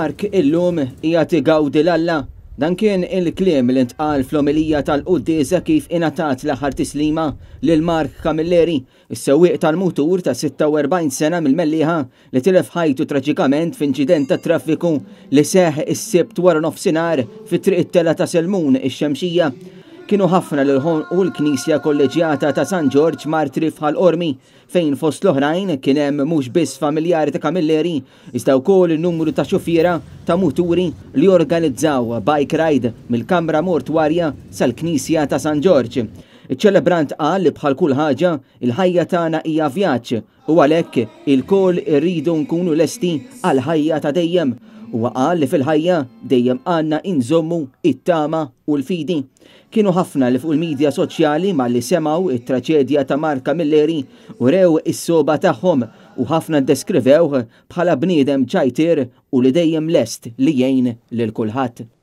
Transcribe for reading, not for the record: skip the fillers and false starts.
Mark illum qiegħed igawdi 'l Alla. Dan kien il-kliem li ntqal fl-omelija tal-quddiesa kif ingħatat l-aħħar tislima lil Mark Camilleri, is-sewwieq tal-mutur ta' 46 sena mill-Mellieħa li tilef ħajtu traġikament f'inċident tat-traffiku li seħħ is-Sibt wara nofsinhar fi Triq it-Telgħa ta' Selmun, ix-Xemxija. Kienu ħafna li ħonqu l-Knisja Kolleġjata ta' San Ġorġ Martri f'Ħal Qormi fejn fost l-oħrajn kien hemm mhux biss familjari ta' Camilleri iżda wkoll numru ta' xufiera ta' muturi li organizzaw bike ride mill-kamra mortwarja sal-Knisja ta' San Ġorġ. Iċ-ċelebrant qal li bħal kull ħaġa, il-ħajja tagħna hija vjaġġ u għalhekk ilkoll irridu nkunu lesti għall-ħajja ta' dejjem. Huwa qal li fil-ħajja dejjem għandna inżommu it-tama u l-fidi. Kienu ħafna li fuq il-midja soċjali malli semgħu it-traċedja ta' Mark Camilleri urew is-sogħba tagħhom u ħafna ddeskrivewh bħala bniedem ċajtier u li dejjem lest li jgħin lil kulħadd.